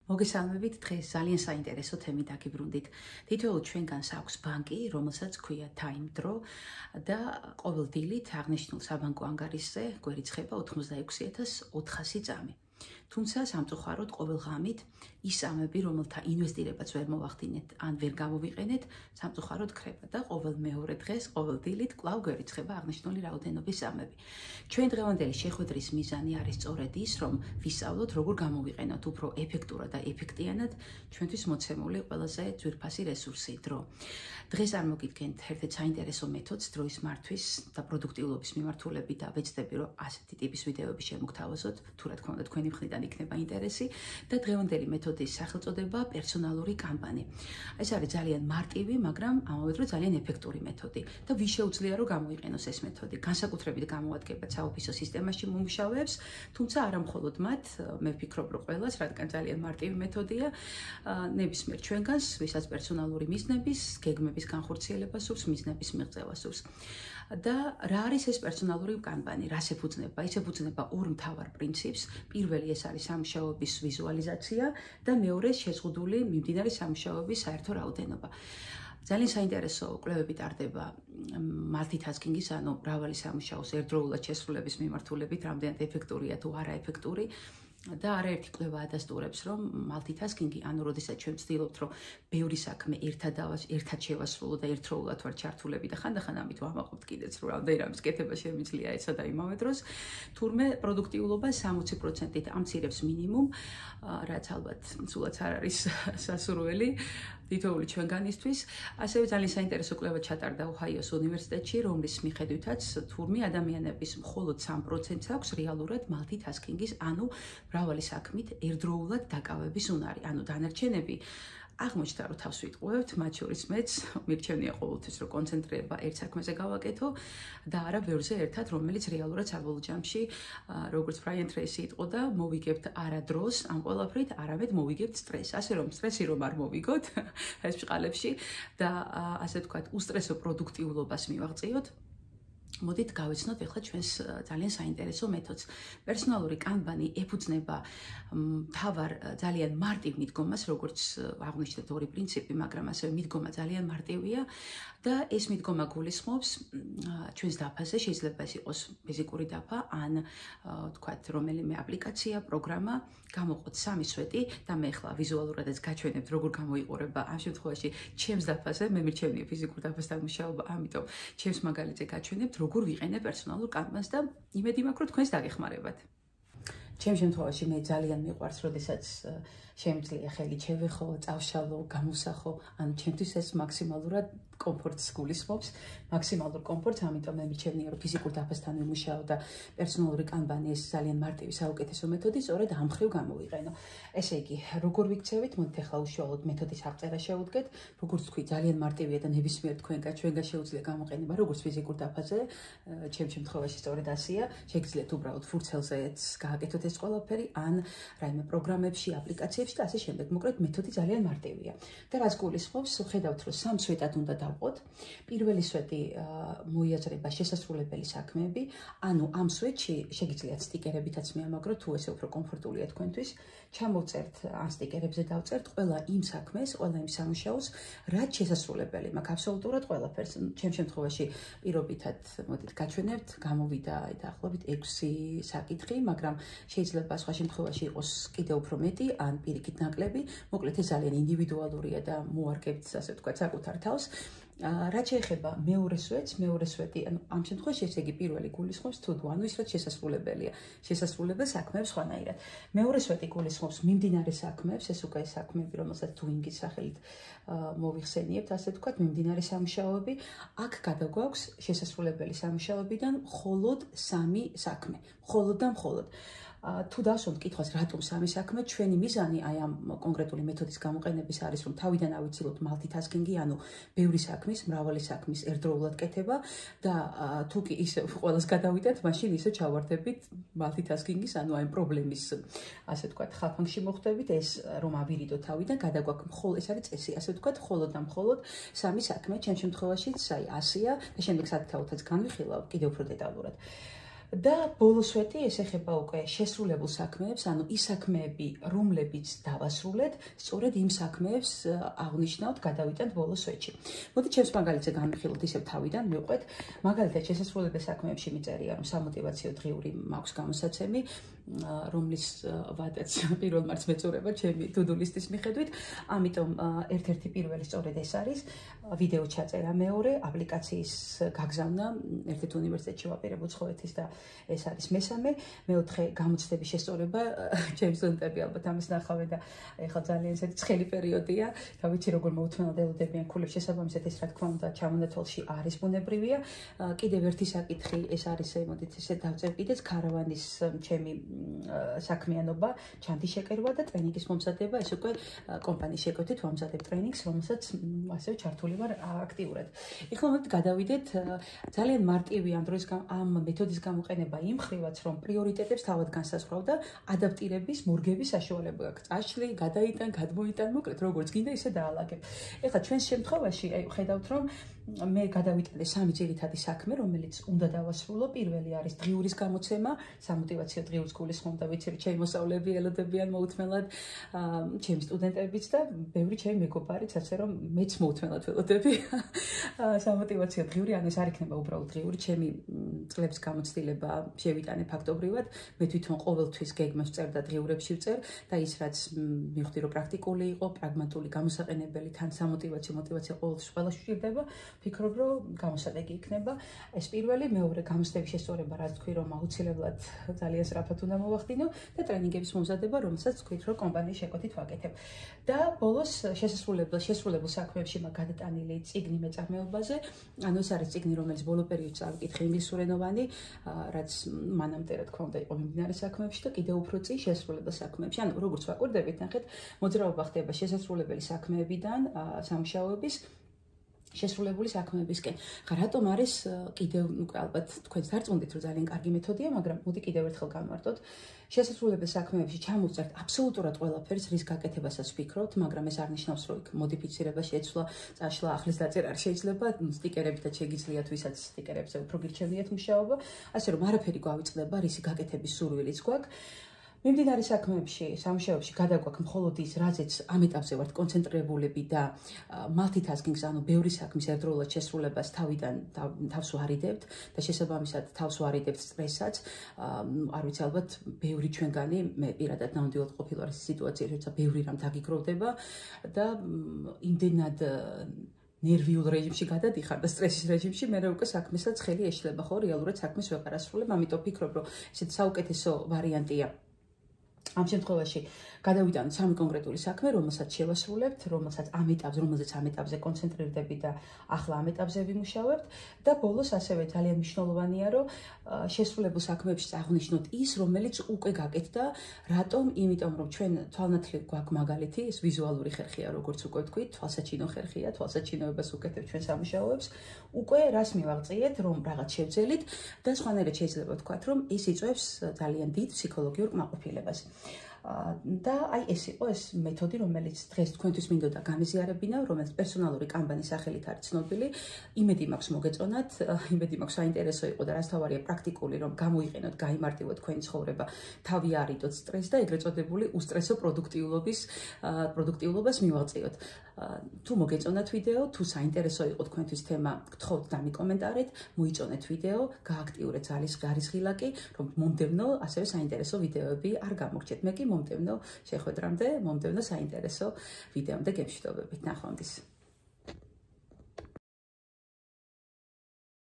მოგესალმებით, დღეს ძალიან საინტერესო თემით დაგიბრუნდით. თითოეულ ჩვენგანს აქვს ბანკი, რომელსაც ქვია Time Draw და ყოველ დილით აღნიშნულ საბანკო ანგარიშზე გვერიცხება 86,400 წამი. თუმცა სამწუხაროდ ყოველ ღამით ის წამები, რომელთა ინვესტირებაც ვერ მოვახდინეთ ან ვერ გამოვიყენეთ, სამწუხაროდ ქრება და ყოველ მეორე დღეს, ყოველ დილით კვლავ გვერიცხება აღნიშნული რაოდენობის წამები. ჩვენ დღევანდელი შეხვედრის მიზანი არის სწორედ ის, რომ ვისწავლოთ, როგორ გამოვიყენოთ უფრო ეფექტურად და ეფექტიანად ჩვენთვის მოცემული ყველაზე ძვირფასი რესურსი დრო. დღეს არ მოგიდგენთ ერთ-ერთ საინტერესო მეთოდს დროის მართვის და პროდუქტიულობის მიმართულებით და ვეცდები, რომ ასეთი ტიპის ვიდეოები შემოგთავაზოთ, თუ რა თქმა უნდა თქვენი მხრიდან იქნება ინტერესი და დღევანდელი მეთოდის სახელწოდება პერსონალური კამპანი. ეს არის ძალიან მარტივი, მაგრამ ამავე დროს ძალიან ეფექტური მეთოდი და ვის შეუძლია რომ გამოიყენოს ეს მეთოდი. განსაკუთრებით გამოადგება საოფისო სისტემაში მომუშავეებს, თუმცა არა მხოლოდ მათ, მე ვფიქრობ, რომ ყველას, რადგან ძალიან მარტივი მეთოდია, ნებისმიერ ჩვენგანს, ვისაც პერსონალური მიზნების, გეგმების განხორციელება სურს, მიზნების მიღწევა სურს. და რა არის ეს პერსონალური კამპანი? რას ეფუძნება? ის ეფუძნება ორ მთავარ პრინციპს. პირველი ეს არის სამუშაოების ვიზუალიზაცია და მეორე შეზღუდული მიმდინარე სამუშაოების საერთო რაოდენობა. ძალიან საინტერესო კვლევები ტარდება multitasking-ის, ანუ მრავალი სამუშაოს ერთდროულად შესრულების მიმართულებით, რამდენად ეფექტურია თუ არა ეფექტური. და არაერთი კვლევა ადასტურებს, რომ multitasking-ი, ანუ როდესაც ჩვენ ვცდილობთ, რომ ბევრი საქმე ერთად შევასრულოთ და ერთდროულად ვარ ჩართულები და ხანდახან ამით ვამაყობთ კიდეც, რომ რამდენი რამის კეთება შემიძლია ესა და იმავე დროს, თურმე პროდუქტიულობას 60%-ით ამცირებს მინიმუმ, რაც ალბათ სულაც არ არის სასურველი თითოეული ჩვენგანისთვის. ასევე ძალიან საინტერესო კვლევა ჩატარდა ოჰაიოს უნივერსიტეტში, რომლის მიხედვითაც თურმე ადამიანების მხოლოდ 3%-ს აქვს რეალურად multitasking-ის, ანუ მრავალი საქმით ერთდროულად დაკავების უნარი. ანუ დანარჩენები აღმოჩნდა, რომ თავს ვიტყუებთ, მათ შორის მეც მირჩენია ყოველთვის, რომ კონცენტრება ერთ საქმეზე გავაკეთო და არა ბევრზე ერთად, რომელიც რეალურად საბოლოო ჯამში, როგორც ბრაიან ტრეისი იტყოდა, მოვიგებთ არა დროს ამ ყველაფრით, არამედ მოვიგებთ სტრესს. ასე რომ სტრესი რომ არ მოვიგოთ ეს ბრწყალებში და ასე ვთქვათ, უსტრესო პროდუქტიულობას მივაღწიოთ. მოდით გავიცნოთ ახლა ჩვენს ძალიან საინტერესო მეთოდს. პერსონალური კამპანი ეფუძნება მთავარ ძალიან მარტივ მიდგომას, როგორც აღვნიშნეთ ორი პრინციპი, მაგრამ ასევე მიდგომა ძალიან მარტივია და ეს მიდგომა გულისხმობს ჩვენს დაფაზე, შეიძლება ეს იყოს ფიზიკური დაფა ან ვთქვათ რომელიმე აპლიკაცია, პროგრამა, გამოყოთ სამი სვეტი და მე ახლა ვიზუალურადაც გაჩვენებთ როგორ გამოიყურება ამ შემთხვევაში ჩემს დაფაზე, მე მირჩენია ფიზიკურ დაფასთან მუშაობა, ამიტომ ჩემს მაგალითზე გაჩვენებთ როგორ ვიყენებ პერსონალურ კამპანიას და იმედი მაქვს, რომ თქვენს დაგეხმარებათ. ჩემს შემთხვევაში მე ძალიან მიყვარს, როდესაც შემიძლია ხელი შევეხო, წავშალო, გამოსახო, ანუ ჩემთვის ეს მაქსიმალურად კომფორტს გულისხმობს, მაქსიმალურ კომფორტს, ამიტომ მე მირჩენია, რომ ფიზიკურ დაფასთან ვიმუშაო და პერსონალური კამპანი ეს ძალიან მარტივი საუკეთესო მეთოდი, სწორედ ამ ხრივ გამოვიყენო. ესე იგი, როგორ ვიქცევით? მოდით ახლა უშუალოდ მეთოდის აღწერა შევუდგეთ. როგორც თქვი, ძალიან მარტივია და ნებისმიერ თქვენგან შეუძლია გამოყენება, როგორც ფიზიკურ დაფაზე, ჩემს შემთხვევაში სწორედ ასეა. შეგიძლიათ უბრალოდ ფურცელზეც გააკეთოთ ეს ყველაფერი, ან რაიმე პროგრამებში, აპლიკაციებში და ასე შემდეგ. მოკლედ მეთოდი ძალიან მარტივია. და რაც გულისხმობს, ხედავთ, რომ სამ სვეტად უნდა დავყოთ. პირველი სვეტი მოიაზრება შესასრულებელი საქმეები, ანუ ამ სვეტში შეგიძლიათ სტიკერებითაც მიამაგროთ, თუ ესე უფრო კომფორტულია თქვენთვის. ჩამოვწერთ ან სტიკერებზე დავწერთ ყველა იმ საქმეს, ყველა იმ სამუშაოს, რაც შესასრულებელი მაქვს აბსოლუტურად ყველაფერს. ჩემს შემთხვევაში პირობითად მოდით გაჩვენებთ, გამოვიდა დაახლოებით 6 საკითხი, მაგრამ შეიძლება სხვა შემთხვევაში იყოს კიდევ უფრო მეტი ან პირიქით ნაკლები. მოკლედ ეს ძალიან ინდივიდუალურია და მოარგებთ, ასე ვთქვათ, საკუთარ თავს. რაც შეეხება მეორე სვეტს, მეორე სვეტი, ანუ ამ შემთხვევაში ესე იგი პირველი გულისხმობს თუდო, ანუ ის რაც შესასრულებელია, შესასრულებელ საქმეებს ხვანაირად. მეორე სვეტი გულისხმობს მიმდინარე საქმეებს, ეს უკვე საქმეები, რომელსაც doing-ის სახელით მოვიხსენიებთ, ასე ვთქვათ, მიმდინარე სამუშაოები. აქ გადაგვაქვს შესასრულებელი სამუშაოებიდან მხოლოდ 3 საქმე, მხოლოდ და მხოლოდ. თუ დავსვამთ კითხვას, რატომ 3 საქმე, ჩვენი მიზანი აი ამ კონკრეტული მეთოდის გამოყენების არის, რომ თავიდან ავიცილოთ multitasking-ი, ანუ ბევრი საქმის, მრავალი საქმის ერთდროულად კეთება და თუ კი ისე ყველას გადავიდეთ, მაშინ ისე ჩავარდებით multitasking-ის, ანუ აი პრობლემის, ასე ვთქვათ, ხალხში მოხვდებით, ეს რომ ავირიდოთ თავიდან, გადაგვაქვს მხოლოდ ეს არის წესი, ასე ვთქვათ, მხოლოდ და მხოლოდ 3 საქმე, ჩემს შემთხვევაშიც აი ასეა და შემდეგ საკითხავთაც განვიხილავ კიდევ უფრო დეტალურად. და ბოლოსვეტი ეს ეხება უკვე შესრულებულ საქმეებს, ანუ ის საქმეები, რომლებიც დავასრულეთ, სწორედ იმ საქმეებს აღნიშნავთ, გადავიტანთ ბოლოსვეტში. მოდით ჩემს მაგალითზე განვიხილოთ ისევ თავიდან, მივყვეთ, მაგალითად შესასრულებელ საქმეებში მიწერია, რომ სამოტივაციო დღიური მაქვს გამოსაცემი, რომლის ვადაც პირველ მარტს მეწურება ჩემი to-do list-ის მიხედვით, ამიტომ ერთ-ერთი პირველი სწორედ ეს არის, ვიდეო ჩაწერა მეორე, აპლიკაციის გაგზავნა, ერთ-ერთ უნივერსიტეტში ვაპირებ უცხოეთის და ეს არის მესამე, მეოთხე გამოცდების შესწორება, ჩემი სტუდენტები ალბათ ამას ნახავენ და ეხლა ძალიან ესეთი ცხელი პერიოდია, და ვიცი როგორ მოუთმენლად ელოდებიან ქულებს შესაბამისად ეს რა თქმა უნდა ჩამონათვალში არის ბუნებრივია. კიდევ ერთი საკითხი ეს არის, მოდით ესე დავწერ კიდეც ქარავანის ჩემი საქმიანობა, ჩანთის შეკერვა და ტრენინგის მომზადება, ეს უკვე კომპანიის შეკვეთით ვამზადებ ტრენინგს, რომელსაც ასევე ჩართული ვარ აქტიურად. ეხლა მოდით გადავიდეთ ძალიან მარტივი ამ მეთოდის გამოყენება იმ ხრივაც, რომ პრიორიტეტებს თავად განსაზღვრავ და ადაპტირების, მორგების საშუალება გაქვს. წაშლი, გადაიტან, გადმოიტან, მოკლედ როგორც გინდა ისე დაალაგებ. ეხლა ჩვენს შემთხვევაში ხედავთ, რომ მე გადავიტანე სამი ძირითადი საქმე, რომელიც უნდა დავასრულო. პირველი არის დღიურის გამოცემა, სამოტივაციო დღიურს გულისხმობ და ვიცი, რომ ჩემი მოსწავლეები ელოდებიან მოუთმენლად, ჩემი სტუდენტებიც და ბევრი ჩემი მეგობარიც, ასე რომ მეც მოუთმენლად ველოდები სამოტივაციო დღიური, ანუ ეს არ იქნება უბრალოდ დღიური, ჩემი წლების გამოცდილება შევიტანე ფაქტობრივად, მე თვითონ ყოველთვის გეგმას ვწერ და დღიურებში ვწერ და ის რაც მივხვდი, რომ პრაქტიკული იყო, პრაგმატული, გამოსაყენებელი, თან სამოტივაციო მოტივაცია ყოველთვის ყველას სჭირდება. ფიქრობ, რომ გამოსადეგი იქნება. ეს პირველი, მეორე გამოცდების შესწორება, რაც თქვი, რომ აუცილებლად ძალიან სწრაფად უნდა მოვახდინო და ტრენინგების მომზადება, რომელსაც თქვით, რომ კომპანიის შეკვეთით ვაკეთებ. და ბოლოს შესრულებულ საქმეებში მაგ გადატანილი წიგნი მეწარმეობაზე, ანუ ეს არის წიგნი, რომელიც ბოლო პერიოდში წავიკითხე ინგლისურენოვანი, რაც მანამდე რა თქმა უნდა იყო მიმდინარე საქმეებში და კიდევ უფრო წინ შესრულებელ საქმეებში. ანუ როგორც ვაკვირდებით, ნახეთ, მოძრაობა ხდება შესრულებელი საქმეებიდან, სამუშაოების შესრულებული საქმეებისკენ. ხა რატომ არის კიდევ ალბათ თქვენს დარწმუნდით, რომ ძალიან კარგი მეთოდია, მაგრამ მოდი კიდევ ერთხელ გავმარტოთ. შესრულებელ საქმეებში ჩამოვწერთ აბსოლუტურად ყველაფერს, რის გაკეთებასაც ვფიქრობთ, მაგრამ ეს არ ნიშნავს, რომ იქ მოდიფიცირება შეცვლა, წაშლა, ახლის დაწერა არ შეიძლება, სტიკერებითაც შეგიძლიათ, ვისაც სტიკერებზე უფრო გირჩევიათ მუშაობა, ასე რომ არაფერი გვავიწყდება, რისი გაკეთების სურვილიც გვაქვს. მიმდინარე საქმეებში, სამუშაოებში გადაგვაქვს მხოლოდ ის, რაზეც ამ ეტაპზე ვართ კონცენტრირებულები და multitasking-ს, ანუ ბევრი საქმის ერთდროულად შესრულებას თავიდან თავს ვარიდებთ და შესაბამისად თავს ვარიდებთ სტრესსაც. არ ვიცი, ალბათ ბევრი ჩვენგანი, მე პირადად ნამდვილად ყოფილვარ ეს სიტუაციაში, როცა ბევრი რამ დაგიგროვდება და იმდენად ნერვიულ რეჟიმში გადადიხარ და სტრესის რეჟიმში, მე უკვე საქმესაც ხელი ეშლება, ხო, რეალურად საქმეს ვეღარ ასრულებ, ამიტომ ვფიქრობ, რომ ესეთი საუკეთესო ვარიანტია ამ შემთხვევაში გადავიტანოთ სამი კონკრეტული საქმე, რომელსაც შევასრულებთ, რომელსაც ამ ეტაპზე კონცენტრირდებით და ახლა ამ ეტაპზე ვიმუშავებთ და ბოლოს ასევე ძალიან მნიშვნელოვანია, რომ შესრულებულ საქმეებში აღნიშნოთ ის, რომელიც უკვე გაკეთდა, რატომ? იმიტომ, რომ ჩვენ თვალნათლივ გვაქვს მაგალითი, ეს ვიზუალური ხერხია, როგორც უკვე ვთქვით, თვალსაჩინო ხერხია, თვალსაჩინოებას უკეთებთ ჩვენ სამუშაოებს, უკვე რას მივაღწიეთ, რომ რაღაც შევძელით და სხვანაირად შეიძლება ვთქვათ, რომ ეს იწვევს ძალიან დიდ ფსიქოლოგიურ კმაყოფილებას. და აი ეს იყო ეს მეთოდი, რომელიც დღეს თქვენთვის მინდოდა გამიზიარებინა, რომელიც პერსონალური კამპანიის სახელით არის ცნობილი. იმედი მაქვს მოგეწონათ, იმედი მაქვს საინტერესო იყო და რაც თავარია პრაქტიკული, რომ გამოიყენოთ, გაიმარტივოთ თქვენი ცხოვრება, თავი არიდოთ სტრესს და ეგრეთ წოდებული უსტრესო პროდუქტიულობას მივაღწიოთ. თუ მოგეწონათ ვიდეო, თუ საინტერესო იყო თქვენთვის თემა, გთხოვთ დამიკომენტარეთ, მოიწონეთ ვიდეო, გააქტიურეთ ძალისხილაკი, რომ მომდევნო ასევე საინტერესო ვიდეოები არ გამორჩეთ. მე კი მომდევნო შეხვედრამდე, მომდევნო საინტერესო ვიდეომდე გემშვიდობებით. ნახვამდის.